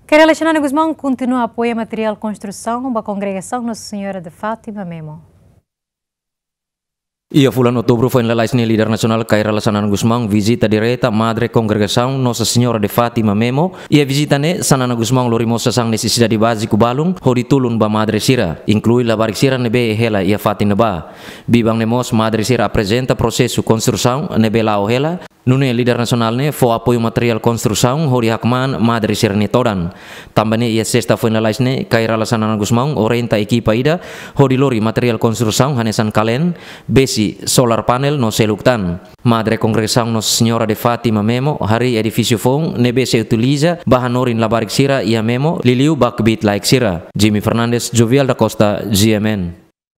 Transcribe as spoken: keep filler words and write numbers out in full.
Kay Rala Xanana Gusmão kontinua apoia materiál konstrusaun ba kongregasaun Nossa Senhora de Fátima Memo. Iha fulan Outubru foin lalais ne'e, líder nasionál Kay Rala Xanana Gusmão vizita direta Madre Kongregasaun Nossa Senhora de Fátima Memo. Iha vizita ne'e, Xanana Gusmão lori mós sasán nesesidade báziku balun hodi tulun ba madre sira, inklui labarik sira ne'ebé hela iha fatin ne'ebá. Biban ne'e mós madre sira aprezenta prosesu konstrusaun ne'ebé la'o hela. Nune'e líder nasionál ne'e fó apoiu materiál konstrusaun hodi hakmaan madre sira-nia todan. Tanba ne'e iha sesta foin lalais ne'e, Kay Rala Xanana Gusmão orienta ekipa ida hodi lori materiál konstrusaun hanesan kalen, besi, solar panel no seluk tan. Madre Kongregasaun Nossa Senhora de Fátima Memo harii edifísiu foun ne'ebé sei utiliza ba hanorin labarik sira iha Memo, liuliu ba kbiit-laek sira. Jimmy Fernandes, Jovial da Costa, G M N.